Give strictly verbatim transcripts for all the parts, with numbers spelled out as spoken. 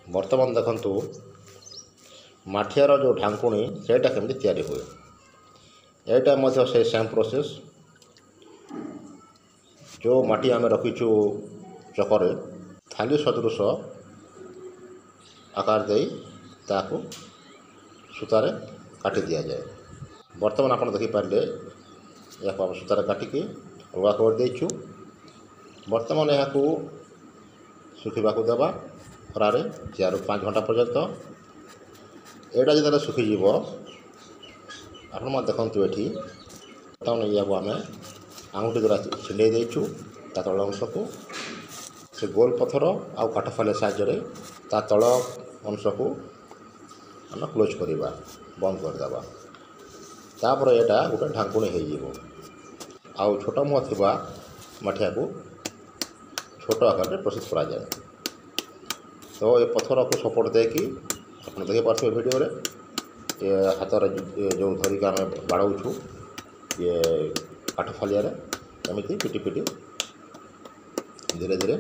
ବର୍ତ୍ତମାନ ଦେଖନ୍ତୁ ମାଠିଆର ଯେଉଁ ଢାଙ୍କୁଣୀ ସେଇଟା କେମିତି ତିଆରି ହୁଏ ଏଇଟା ମଧ୍ୟ ସେଇ ସେମ୍ ପ୍ରୋସେସ୍ ଯେଉଁ ମାଟି ଆମେ ରଖିଛୁ ଚକରେ ଥାଳି ସଦୃଶ ଆକାର ଦେଇ ତାକୁ ସୂତାରେ କାଟି ଦିଆଯାଏ ବର୍ତ୍ତମାନ ଆପଣ ଦେଖିପାରିଲେ ଏହାକୁ ଆମେ ସୂତାରେ କାଟିକି ଅଲଗା କରିଦେଇଛୁ ବର୍ତ୍ତମାନ ଏହାକୁ ଶୁଖିବାକୁ ଦେବା ଖରାରେ ଚାରିରୁ ପାଞ୍ଚ ଘଣ୍ଟା ପର୍ଯ୍ୟନ୍ତ ଏଇଟା ଯେତେବେଳେ ଶୁଖିଯିବ ଆପଣମାନେ ଦେଖନ୍ତୁ ଏଠି ବର୍ତ୍ତମାନ ଏହାକୁ ଆମେ ଆଙ୍ଗୁଠି ଦ୍ୱାରା ଛିଣ୍ଡେଇ ଦେଇଛୁ ତା ତଳ ଅଂଶକୁ ସେ ଗୋଲ ପଥର ଆଉ କାଠ ଫାଲିଆ ସାହାଯ୍ୟରେ ତା ତଳ ଅଂଶକୁ ଆମେ କ୍ଲୋଜ୍ କରିବା ବନ୍ଦ କରିଦେବା ତାପରେ ଏଇଟା ଗୋଟେ ଢାଙ୍କୁଣୀ ହେଇଯିବ ଆଉ ଛୋଟ ମୁହଁ ଥିବା ମାଠିଆକୁ ଛୋଟ ଆକାରରେ ପ୍ରସ୍ତୁତ କରାଯାଏ ତ ଏ ପଥରକୁ ସପୋର୍ଟ ଦେଇକି ଆପଣ ଦେଖିପାରୁଥିବେ ଭିଡ଼ିଓରେ ଏ ହାତରେ ଯେଉଁ ଧରିକି ଆମେ ବାଡ଼ଉଛୁ ଇଏ କାଠ ଫାଲିଆରେ ଏମିତି ପିଟି ପିଟି ଧୀରେ ଧୀରେ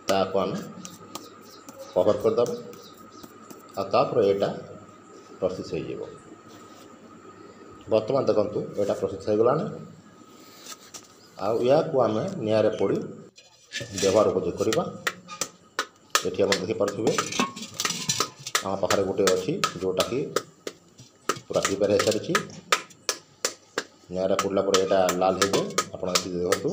ତାକୁ ଆମେ କଭର୍ କରିଦେବା ଆଉ ତାପରେ ଏଇଟା ପ୍ରସ୍ତୁତ ହେଇଯିବ ବର୍ତ୍ତମାନ ଦେଖନ୍ତୁ ଏଇଟା ପ୍ରସ୍ତୁତ ହେଇଗଲାଣି ଆଉ ଏହାକୁ ଆମେ ନିଆଁରେ ପୋଡ଼ି ବ୍ୟବହାର ଉପଯୋଗ କରିବା ଏଠି ଆପଣ ଦେଖିପାରୁଥିବେ ଆମ ପାଖରେ ଗୋଟେ ଅଛି ଯେଉଁଟାକି ପୁରା ପ୍ରିପେୟାର ହେଇସାରିଛି ନିଆଁରେ ପୋଡ଼ିଲା ପରେ ଏଇଟା ଲାଲ ହେଇଯାଏ ଆପଣ ଏଠି ଦେଖନ୍ତୁ